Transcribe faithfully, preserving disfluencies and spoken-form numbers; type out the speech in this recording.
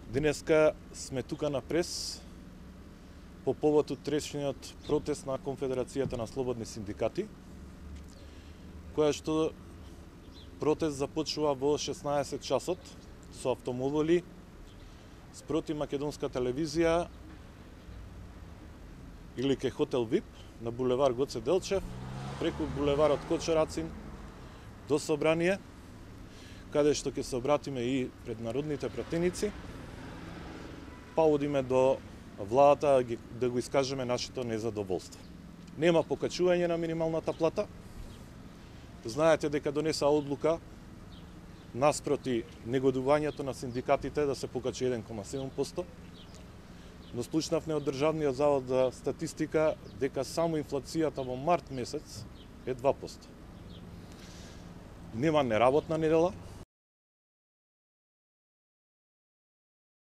Денеска сме тука на прес по повод утрешниот протест на Конфедерацијата на слободни синдикати, која што протест започува во шеснаесет часот со автомобили спроти Македонска телевизија или ке хотел ВИП на булевар Гоце Делчев, преку булеварот Кочерацин до собрание, каде што ќе се обратиме и пред народните пратеници, па одиме до владата да го искажеме нашето незадоволство. Нема покачување на минималната плата. Знаете дека донеса одлука наспроти негодувањето на синдикатите да се покачи еден кoma седум проценти, но слушнавме од Државниот завод за статистика дека само инфлацијата во март месец е два проценти. Нема неработна недела,